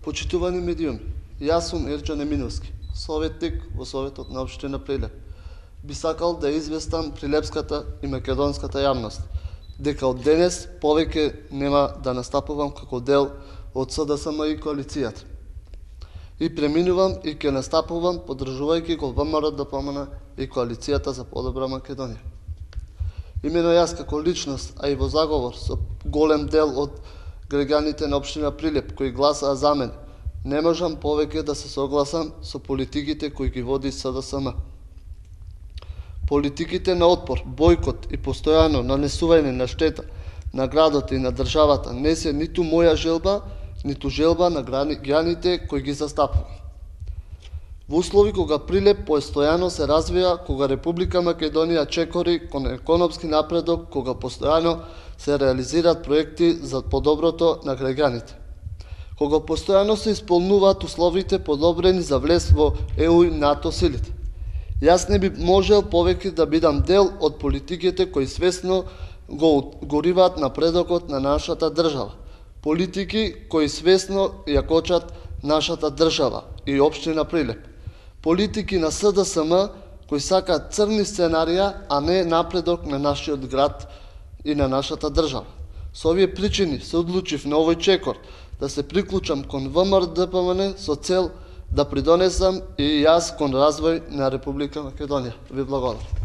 Почитувани медиуми, јас сум Ерџан Еминовски, советник во Советот на општина Прилеп. Би сакал да известам прилепската и македонската јавност дека од денес повеќе нема да настапувам како дел од СДСМ и коалицијата. И преминувам и ќе настапувам поддржувајќи го ВМРО-ДПМН и коалицијата за подобра Македонија. Имено јас како личност, а и во заговор со голем дел од граѓаните на општина Прилеп кои гласаа за мене, не можам повеќе да се согласам со политиките кои ги води СДСМ. Политиките на отпор, бојкот и постојано нанесување на штета на градот и на државата не се ниту моја желба, ниту желба на граѓаните кои ги застапувам. Во услови кога Прилеп постојано се развија, кога Република Македонија чекори кон економски напредок, кога постојано се реализираат проекти за подоброто на граѓаните, кога постојано се исполнуваат условите подобрени за влез во ЕУ и НАТО силите. Јас не би можел повеќе да бидам дел од политиките кои свесно го гориваат напредокот на нашата држава. Политики кои свесно ја кочат нашата држава и општина Прилеп. Политики на СДСМ кои сакаат црни сценарија, а не напредок на нашиот град и на нашата држава. Со овие причини се одлучив на овој чекор да се приклучам кон ВМРО-ДПМН со цел да придонесам и јас кон развој на Република Македонија. Ви благодарам.